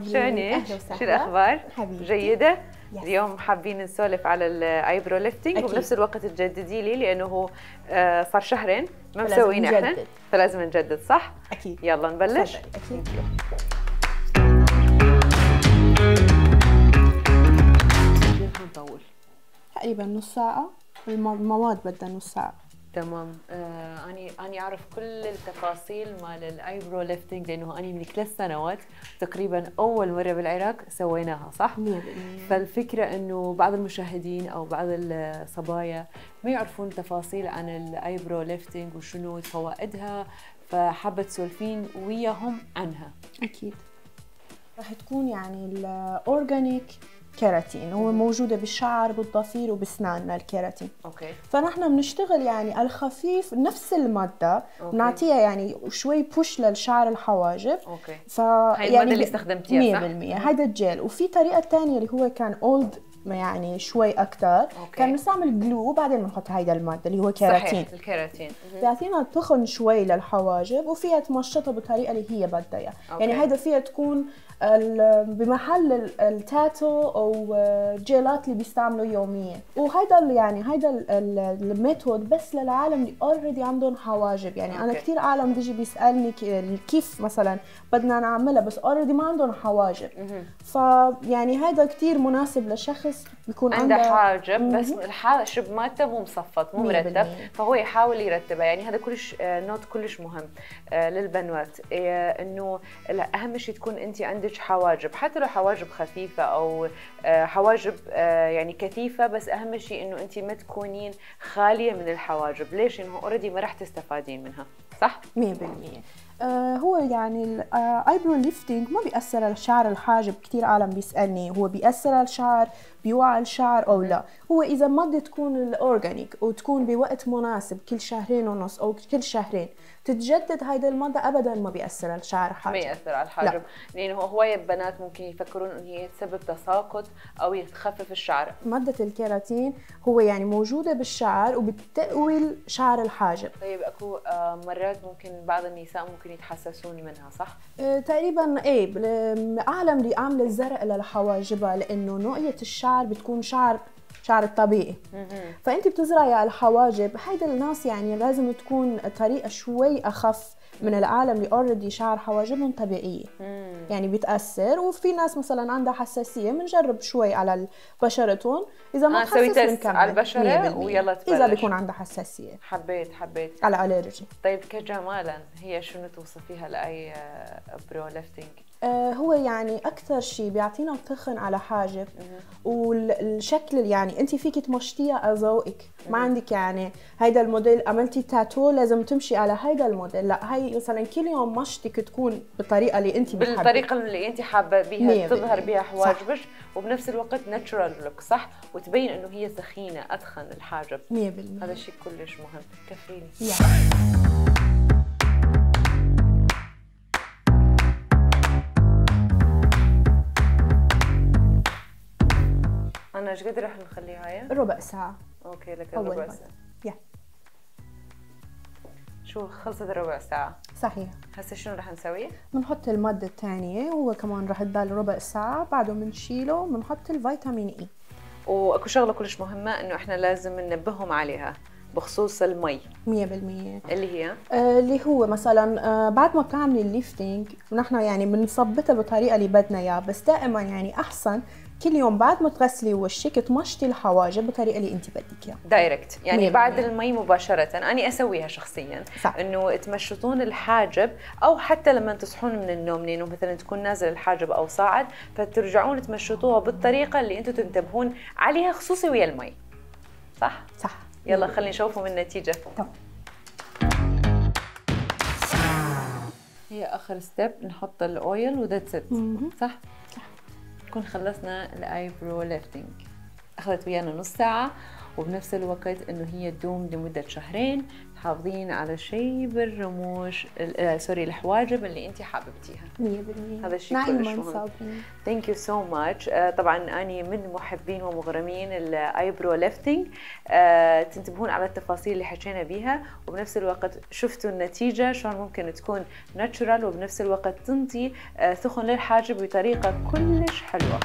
شلونك؟ شو الأخبار؟ حبيبتي. جيدة؟ يس. اليوم حابين نسولف على الايبرو ليفتنج وبنفس الوقت تجددي لي لأنه هو صار شهرين ما مسوينه احنا فلازم نجدد صح؟ أكيد. يلا نبلش؟ أكيد. نطول تقريبا نص ساعة، المواد بدها نص ساعة. تمام. أنا أعرف كل التفاصيل مال الايبرو ليفتنج لأنه أنا من 3 سنوات تقريبا أول مرة بالعراق سويناها صح؟ 100%. فالفكرة إنه بعض المشاهدين أو بعض الصبايا ما يعرفون تفاصيل عن الايبرو ليفتنج وشنو فوائدها، فحابة تسولفين وياهم عنها. أكيد. راح تكون يعني الأورجانيك كيراتين، هو موجودة بالشعر بالضفير وبسناننا الكيراتين. اوكي. فنحن بنشتغل يعني الخفيف نفس المادة بنعطيها يعني شوي بوش للشعر الحواجب. اوكي. هاي المادة اللي استخدمتيها صح؟ 100%. هذا الجيل، وفي طريقة ثانية اللي هو كان اولد يعني شوي أكثر. كان بنستعمل جلو وبعدين بنحط هيدا المادة اللي هو كيراتين. صحيح الكيراتين. بيعطينا تخن شوي للحواجب وفيها تمشطها بالطريقة اللي هي بدها اياها، يعني هيدا فيها تكون بمحل التاتو او جيلات اللي بيستعملوا يوميا، وهيدا يعني هيدا الميثود بس للعالم اللي اوريدي عندهم حواجب. يعني انا كثير عالم بيجي بيسالني كيف مثلا بدنا نعملها بس اوريدي ما عندهم حواجب. فيعني هيدا كثير مناسب لشخص بيكون عنده حاجب بس الحاجب مالته مو مصفط مو مرتب، فهو يحاول يرتبها. يعني هذا كلش نوت كلش مهم للبنات، انه اهم شيء تكون انت عندك حواجب، حتى لو حواجب خفيفه او حواجب يعني كثيفه، بس اهم شيء انه انت ما تكونين خاليه من الحواجب. ليش؟ انه اوريدي ما راح تستفادين منها صح 100%. هو يعني الايبرو ليفتنج ما بيأثر على شعر الحاجب. كثير عالم بيسألني هو بيأثر على الشعر، بيوعى الشعر او لا. هو اذا مادة تكون الاورجانيك وتكون بوقت مناسب كل 2.5 او كل شهرين تتجدد هيدا المادة، ابدا ما بيأثر على الشعر الحاجب. ما يأثر على الحاجب، لانه هواية بنات ممكن يفكرون ان هي تسبب تساقط او يخفف الشعر. مادة الكيراتين هو يعني موجودة بالشعر وبتقوي شعر الحاجب. طيب اكو مرات ممكن بعض النساء ممكن يتحسسون منها صح؟ تقريبا ايه. العالم اللي عامله الزرق لحواجبها لانه نوعية الشعر بتكون شعر الطبيعي. فانت بتزرعي على الحواجب، هيدا الناس يعني لازم تكون طريقه شوي اخف من العالم اللي اوريدي شعر حواجبهم طبيعيه. يعني بتاثر. وفي ناس مثلا عندها حساسيه بنجرب شوي على بشرتهم، اذا ما تسوي تيست على البشره ويلا تبلش. اذا بيكون عندها حساسيه حبيت على الالرجي. طيب كجمالا هي شنو توصفيها لاي برو ليفتنج؟ هو يعني اكثر شيء بيعطينا تخن على حاجب، والشكل يعني انت فيك تمشطيها على ذوقك. ما عندك يعني هيدا الموديل عملتي تاتو لازم تمشي على هيدا الموديل، لا. هي مثلا كل يوم مشطك تكون بالطريقه اللي انت بتحبيها، بالطريقه اللي انت حابه بيها تظهر بيها حواجبك، وبنفس الوقت ناتشورال لوك صح، وتبين انه هي سخينه اتخن الحاجب 100%. هذا الشيء كلش مهم. كفيني أنا إيش قد رح نخليها هاي؟ ربع ساعة. أوكي لك ربع ساعة. شو خلصت الربع ساعة؟ صحيح. هسه شنو رح نسوي؟ بنحط المادة الثانية، هو كمان رح تضل ربع ساعة، بعده بنشيله بنحط الفيتامين إي. وأكو شغلة كلش مهمة إنه إحنا لازم ننبههم عليها بخصوص المي 100%. اللي هي اللي هو مثلا بعد ما بتعملي الليفتنج ونحن يعني بنثبتها بالطريقة اللي بدنا اياها، بس دائما يعني أحسن كل يوم بعد ما تغسلي وشك تمشطي الحواجب بالطريقه اللي انت بدك اياها دايركت. يعني بعد المي مباشره. انا اسويها شخصيا صح. انه تمشطون الحاجب، او حتى لما تصحون من النوم لانه مثلا تكون نازل الحاجب او صاعد، فترجعون تمشطوها بالطريقه اللي انتم تنتبهون عليها خصوصي ويا المي صح. يلا خلينا نشوفهم النتيجه. طبعا. هي اخر ستيب نحط الاويل وذاتس ات صح. نكون خلصنا الايبرو ليفتنج. اخذت ويانا نص ساعه، وبنفس الوقت انه هي تدوم لمده 2 شهر. تحافظين على شيب الرموش سوري الحواجب اللي انت حاببتيها 100%. هذا الشيء كلش مهم. ثانك يو سو ماتش. طبعا اني من محبين ومغرمين الايبرو ليفتنج. تنتبهون على التفاصيل اللي حكينا بيها، وبنفس الوقت شفتوا النتيجه شلون ممكن تكون ناتشورال، وبنفس الوقت تنطي ثخن للحاجب بطريقه كلش حلوه.